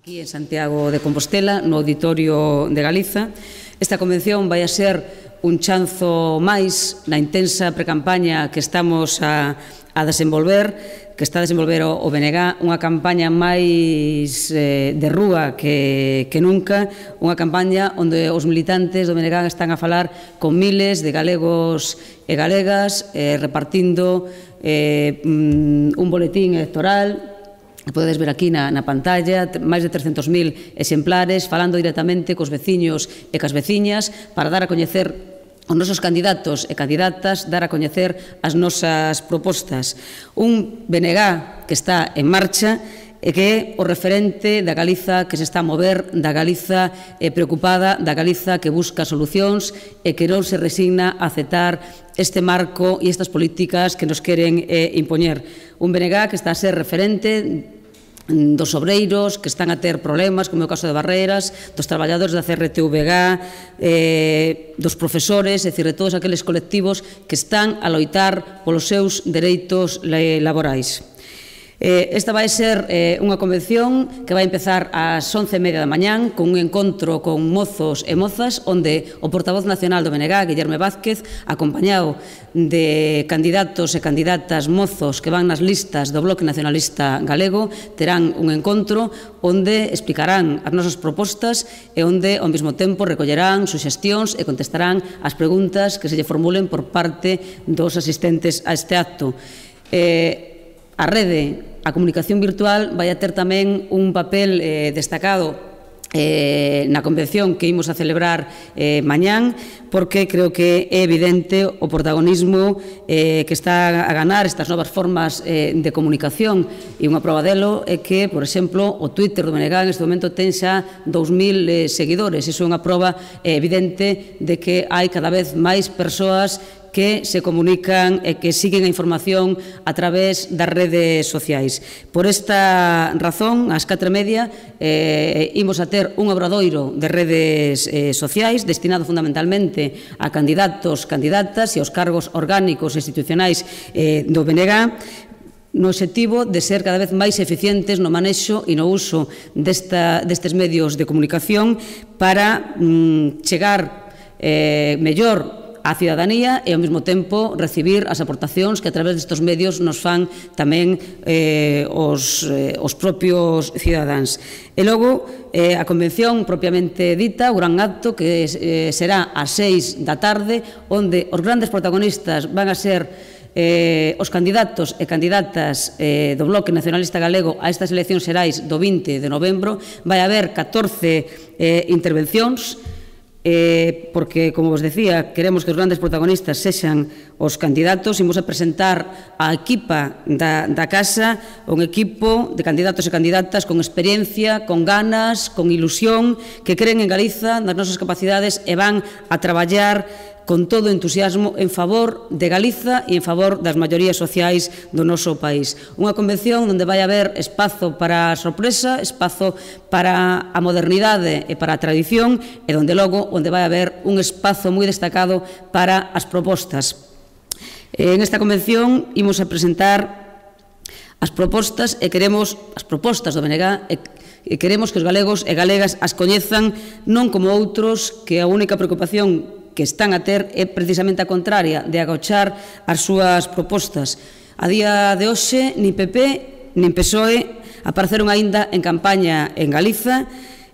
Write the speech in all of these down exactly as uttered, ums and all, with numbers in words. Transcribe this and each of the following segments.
aquí en Santiago de Compostela, no Auditorio de Galiza. Esta convención vai a ser un chanzo máis na intensa precampaña que estamos a, a desenvolver, que está a desenvolver o, o B N G, unha campaña máis eh, de rúa que, que nunca, unha campaña onde os militantes do B N G están a falar con miles de galegos e galegas, eh, repartindo eh, un boletín electoral. Podedes ver aquí na, na pantalla máis de trescentos mil exemplares falando directamente cos veciños e cas veciñas para dar a coñecer os nosos candidatos e candidatas, dar a coñecer as nosas propostas. Un B N G que está en marcha e que é o referente da Galiza que se está a mover, da Galiza eh, preocupada, da Galiza que busca solucións e que non se resigna a aceptar este marco e estas políticas que nos queren eh, impoñer. Un B N G que está a ser referente dos obreiros que están a ter problemas, como é o caso de Barreiras, dos traballadores da C R T V G, eh, dos profesores, é dicir, de todos aqueles colectivos que están a loitar polos seus dereitos laborais. Eh, esta vai ser eh, unha convención que vai empezar ás once e media da mañán con un encontro con mozos e mozas onde o portavoz nacional do B N G, Guillerme Vázquez, acompañado de candidatos e candidatas mozos que van nas listas do Bloque Nacionalista Galego, terán un encontro onde explicarán as nosas propostas e onde ao mesmo tempo recollerán suxestións e contestarán as preguntas que se lle formulen por parte dos asistentes a este acto. Eh, a rede A comunicación virtual vai a ter tamén un papel eh, destacado eh, na convención que imos a celebrar eh, mañán, porque creo que é evidente o protagonismo eh, que está a ganar estas novas formas eh, de comunicación, e unha prova delo é que, por exemplo, o Twitter do B N G en este momento ten xa dous mil eh, seguidores. Iso é unha prova eh, evidente de que hai cada vez máis persoas que se comunican e que siguen a información a través das redes sociais. Por esta razón, ás catro e media, eh, imos a ter un obradoiro de redes eh, sociais destinado fundamentalmente a candidatos, candidatas e aos cargos orgánicos e institucionais eh, do B N G, no obxectivo de ser cada vez máis eficientes no manexo e no uso desta, destes medios de comunicación para mm, chegar eh, mellor a cidadanía e ao mesmo tempo recibir as aportacións que a través destes medios nos fan tamén eh, os, eh, os propios cidadáns. E logo, eh, a convención propiamente dita, o gran acto que eh, será ás seis da tarde, onde os grandes protagonistas van a ser eh, os candidatos e candidatas eh, do Bloque Nacionalista Galego a estas eleccións xerais do vinte de novembro. Vai haber catorce eh, intervencións, Eh, porque, como vos decía, queremos que os grandes protagonistas sexan os candidatos. Imos a presentar a equipa da, da casa, un equipo de candidatos e candidatas con experiencia, con ganas, con ilusión, que creen en Galiza, nas nosas capacidades e van a traballar con todo o entusiasmo en favor de Galiza e en favor das maiorías sociais do noso país. Unha convención onde vai haber espazo para a sorpresa, espazo para a modernidade e para a tradición, e onde logo onde vai haber un espazo moi destacado para as propostas. En esta convención imos a presentar as propostas e queremos as propostas do B N G e queremos que os galegos e galegas as coñezan non como outros que a única preocupación que están a ter é precisamente a contraria, de agochar as súas propostas. A día de hoxe, nin P P nin P S O E apareceron aínda en campaña en Galiza,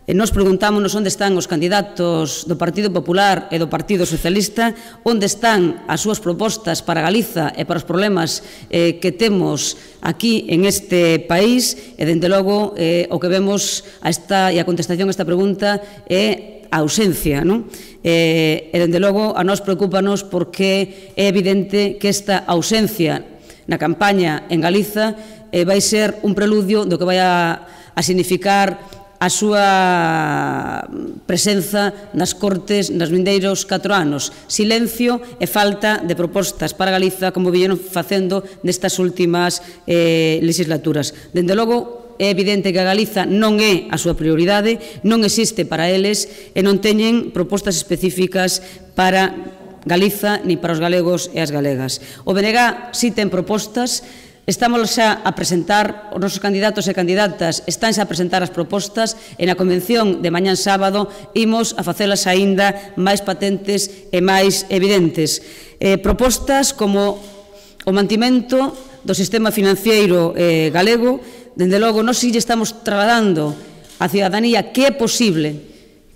e nos preguntámonos onde están os candidatos do Partido Popular e do Partido Socialista, onde están as súas propostas para Galiza e para os problemas eh, que temos aquí en este país, e, dende logo, eh, o que vemos a esta, e a contestación a esta pregunta é a ausencia, non? E, e, dende logo, a nós preocúpanos porque é evidente que esta ausencia na campaña en Galiza eh, vai ser un preludio do que vai a, a significar a súa presenza nas Cortes nas vindeiros catro anos. Silencio e falta de propostas para Galiza, como vieron facendo nestas últimas eh, legislaturas. Dende logo, é evidente que a Galiza non é a súa prioridade, non existe para eles e non teñen propostas específicas para Galiza ni para os galegos e as galegas. O B N G si ten propostas, Estamos xa a presentar, os nosos candidatos e candidatas están xa a presentar as propostas e na convención de mañán sábado imos a facelas aínda máis patentes e máis evidentes. Eh, propostas como o mantimento do sistema financeiro eh, galego. Dende logo, nós si lle estamos trasladando á cidadanía que é posible,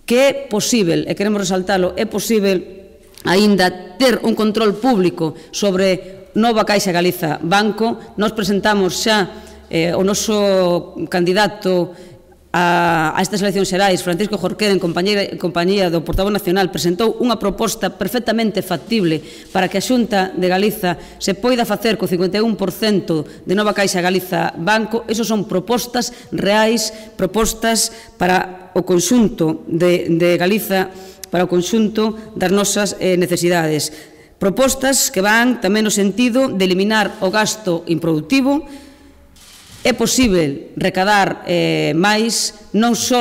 que é posible, e queremos resaltalo, é posible aínda ter un control público sobre Nova Caixa Galiza Banco. Nós presentamos xa eh, o noso candidato a, a estas eleccións xerais, Francisco Jorquera, en compañía, en compañía do portavoz nacional, presentou unha proposta perfectamente factible para que a Xunta de Galiza se poida facer co cincuenta e un por cento de Nova Caixa Galiza Banco. Esos son propostas reais, propostas para o conxunto de, de Galiza, para o conxunto das nosas eh, necesidades. Propostas que van tamén no sentido de eliminar o gasto improductivo. É posible recadar eh, máis, non só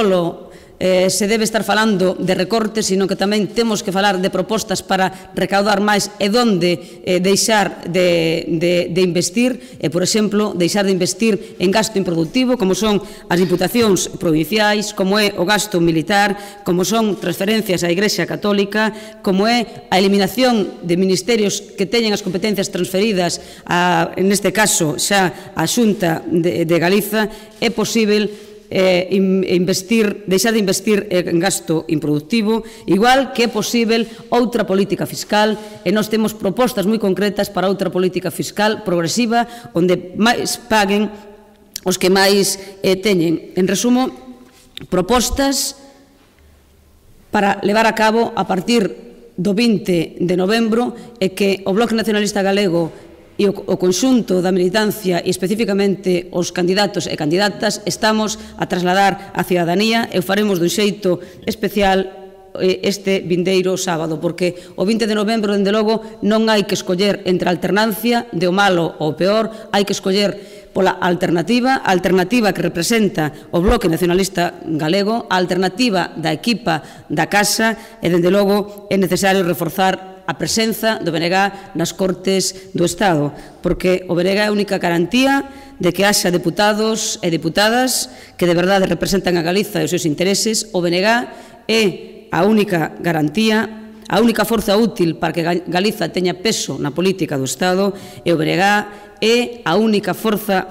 eh, se debe estar falando de recortes, sino que tamén temos que falar de propostas para recaudar máis e donde eh, deixar de, de, de investir, e, por exemplo, deixar de investir en gasto improductivo, como son as diputacións provinciais, como é o gasto militar, como son transferencias á Igrexa Católica, como é a eliminación de ministerios que teñen as competencias transferidas, a, en este caso, xa a Xunta de, de Galiza. É posible Eh, investir, deixar de investir en gasto improductivo, igual que é posible outra política fiscal, e nós temos propostas moi concretas para outra política fiscal progresiva, onde máis paguen os que máis eh, teñen. En resumo, propostas para levar a cabo a partir do vinte de novembro, e que o Bloque Nacionalista Galego e o, o conxunto da militancia e especificamente os candidatos e candidatas estamos a trasladar á cidadanía, e o faremos dun xeito especial este vindeiro sábado, porque o vinte de novembro, dende logo, non hai que escoller entre a alternancia de o malo ou o peor, hai que escoller pola alternativa, a alternativa que representa o Bloque Nacionalista Galego, a alternativa da equipa da casa, e dende logo é necesario reforzar a presenza do B N G nas Cortes do Estado, porque o B N G é a única garantía de que haxa deputados e deputadas que de verdade representan a Galiza e os seus intereses. O B N G é a única garantía, a única forza útil para que Galiza teña peso na política do Estado, e o B N G é a única forza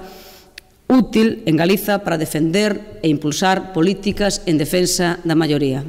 útil en Galiza para defender e impulsar políticas en defensa da maioría.